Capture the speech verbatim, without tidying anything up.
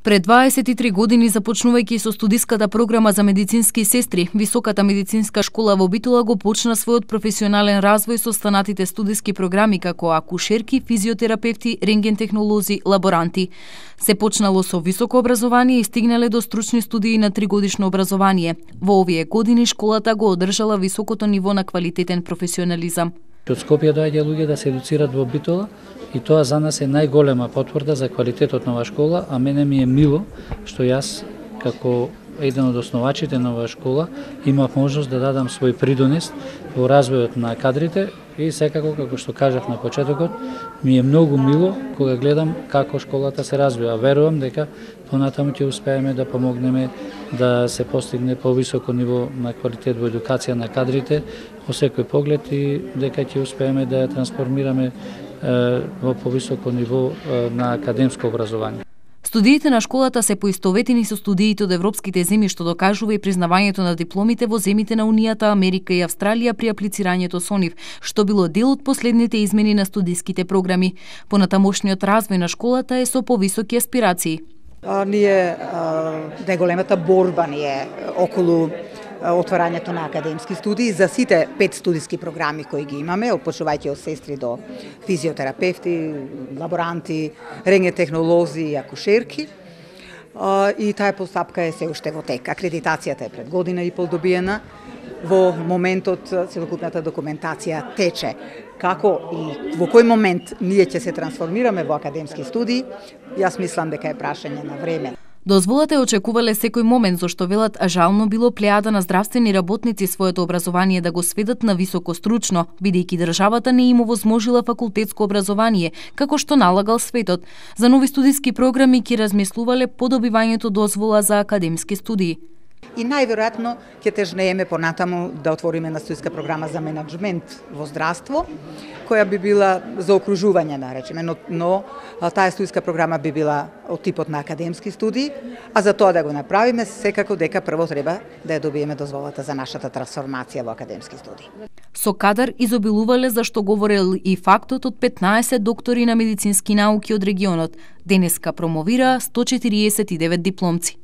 Пред дваесет и три години, започнувајќи со студиската програма за медицински сестри, Високата медицинска школа во Битола го почна својот професионален развој со останатите студиски програми како акушерки, физиотерапевти, рентген технолози, лаборанти. Се почнало со високо образование и стигнале до стручни студии на тригодишно образование. Во овие години школата го одржала високото ниво на квалитетен професионализам. Од Скопје доаѓа луѓе да се едуцират во Битола и тоа за нас е најголема потврда за квалитетот на оваа школа, а мене ми е мило што јас како еден од основачите на оваа школа имав можност да дадам свој придонес во развојот на кадрите и секако, како што кажав на почетокот, ми е многу мило кога гледам како школата се развива. Верувам дека понатаму ќе успееме да помогнеме да се постигне повисоко ниво на квалитет во едукација на кадрите во секој поглед и дека ќе успееме да ја трансформираме во повисоко ниво на академско образование. Студиите на школата се поистоветени со студиите од европските земји, што докажува и признавањето на дипломите во земјите на Унијата, Америка и Австралија при аплицирањето со нив, што било дел од последните измени на студиските програми. Понатамошниот развој на школата е со повисоки аспирации. А, ние најголемата борба ни е околу отварањето на академски студии за сите пет студиски програми кои ги имаме, почнувајќи од сестри до физиотерапевти, лаборанти, рентген технолози и акушерки. И таа постапка е се уште во тек. Акредитацијата е пред година и пол добиена. Во моментот целокупната документација тече. Како и во кој момент ние ќе се трансформираме во академски студии, јас мислам дека е прашање на време. Дозволата е очекувале секој момент, зашто велат жално било плејада на здравствени работници своето образование да го сведат на високо стручно, бидејќи државата не им овозможила факултетско образование, како што налагал светот. За нови студиски програми ќе размислувале по добивањето дозвола за академски студии. И најверојатно ќе тежнееме понатаму да отвориме на студиска програма за менаџмент во здравство, која би била за окружување, наречеме, но, но таа студиска програма би била од типот на академски студии, а за тоа да го направиме, секако дека прво треба да ја добиеме дозволата за нашата трансформација во академски студии. Со кадар изобилувале, за што говорел и фактот од петнаесет доктори на медицински науки од регионот. Денеска промовира сто четириесет и девет дипломци.